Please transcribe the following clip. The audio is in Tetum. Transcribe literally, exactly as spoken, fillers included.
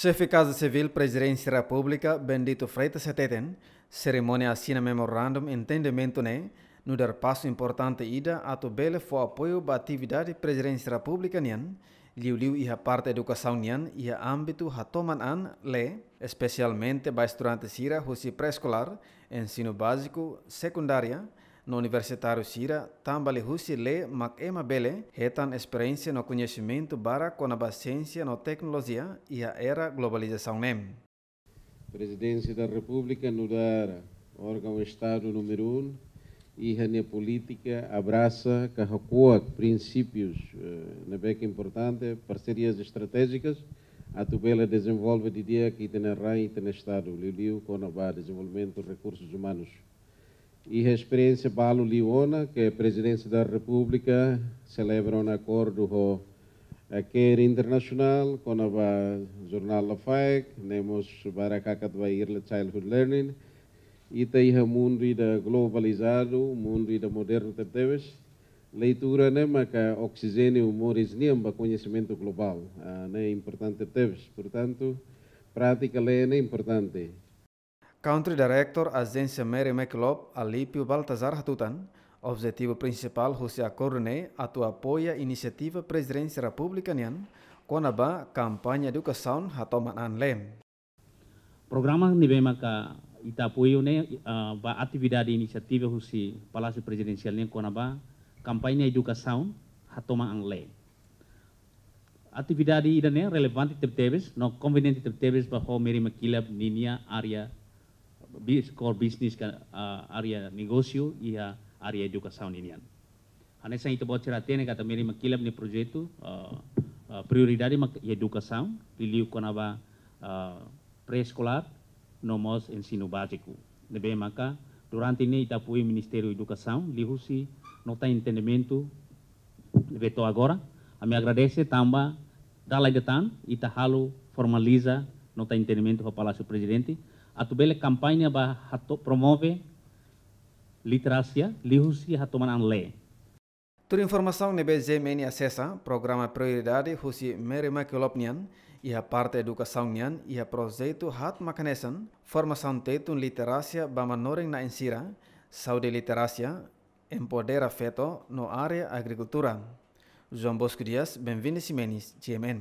Xefe Kaza Sivíl Prezidénsia Repúblika, Bendito Freitas hateten, serimónia asina memorandum entendimentu ne'e nu'udar pasu importante ida atu bele fó apoiu ba atividade Prezidénsia Repúblika nian, liuliu iha parte edukasaun nian iha ámbitu hatoman an lee, espesialmente ba estudante sira husi pré-eskolár, ensinu báziku, sekundária, no universitáriu sira, tanba liuhusi lee mak ema bele hetan esperiénsia no koñesimentu barak kona-ba siénsia no teknolojia iha era globalizasaun ne'e. Prezidénsia da Repúblika nu'udar órgaun Estadu númeru um, iha nia polítika abrasa ka hakuak prinsípius, eh, ne'ebé ke importante, parserias estratéjikas, atu bele dezenvolve didi'ak ita-nia rai, ita-nia Estadu, liuliu kona-ba dezenvolvimentu rekursus umanus. Iha esperiénsia balu liu ona ke Prezidénsia da Repúblika selebra ona akordu ho, eh, CARE Internasionál, kona-ba jornál Lafaek, ne'e mós barak hakat ba Early Childhood Learning. Ita iha mundu ida globalizadu, mundu ida modernu tebetebes. Leitura ne'e maka oksijéniu moris nian ba koñesimentu globál. Ah, ne'e importante tebes. Portantu, prátika lee ne'e importante. Country Director Ajénsia Mary MacKillop, Alípio Baltazar hatutan, objetivu prinsipál husi akordu ne'e atu apoia inisiativa Prezidénsia Repúblika nian kona-ba kampaña edukasaun hatoman an lee. Programa ne'ebé maka ita apoiu ne'e, ah, ba atividade inisiativa husi Palásiu Prezidensiál nian kona-ba kampaña edukasaun hatoman an lee. Atividade ida-ne'e relevante tebetebes, no konveniente tebetebes ba ho Mary MacKillop ninia área bis-, core business ka, ah, área negósiu iha área edukasaun ninian. Hanesan ita-boot sira hatene katak Mary MacKillop nia projetu, ah, ah, prioridade mak iha edukasaun, liuliu kona-ba, ah, pré-eskolár, no mós ensinu báziku. Ne'ebé maka, durante ne'e ita apoiu Ministériu Edukasaun, liuhusi nota entendimentu ne'ebé to'o agora. Ami agradese tanba dala ida tan, ita halo formaliza nota entendimentu ho Palásiu Prezidente, atu bele kampaña ba hato'o promove literasia, liuhusi hatoman an lee. Tuir informasaun ne'ebé G M N asesa, programa prioridade husi Mary MacKillop nian, iha parte edukasaun nian, iha projetu haat mak hanesan, formasaun Tetun literasia ba manorin-na'in sira, saúde literasia, empodera feto no área agrikultura. João Bosco Dias, Benvini Ximenes, G M N.